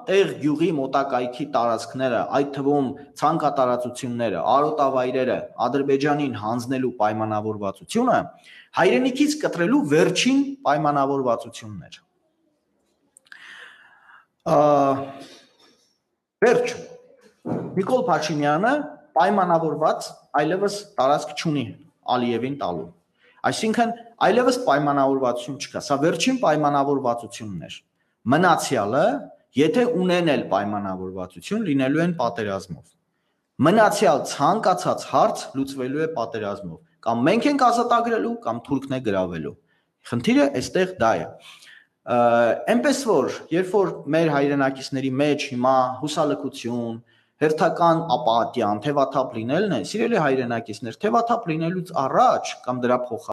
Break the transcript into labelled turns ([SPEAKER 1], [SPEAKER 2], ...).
[SPEAKER 1] տեղ գյուղի մոտակայքի տարածքները, այդ թվում ցանկատարածությունները, արոտավայրերը Ադրբեջանին հանձնելու պայմանավորվածությունը հայրենիքից կտրելու վերջին պայմանավորվածությունն էր։ Վերջ Նիկոլ Փաշինյանը պայմանավորված այլևս տարածք չունի Ալիևին տալու։ Այսինքն այլևս պայմանավորվածություն չկա, սա վերջին պայմանավորվածությունն էր։ Մնացյալը, եթե ունենել պայմանավորվածություն, լինելու են պատերազմով։ Մնացյալ ցանկացած հարց լուծվելու է պատերազմով, կամ մենք ենք ազատագրելու, կամ թուրքն է գրավելու։ Խնդիրը այստեղ դա է։ Այնպես որ, երբ որ մեր հայրենակիցների մեջ հիմա հուսալքություն, հերթական ապատիան, թևաթափ լինելն է, սիրելի հայրենակիցներ, թևաթափ լինելուց առաջ կամ դրա փոխարեն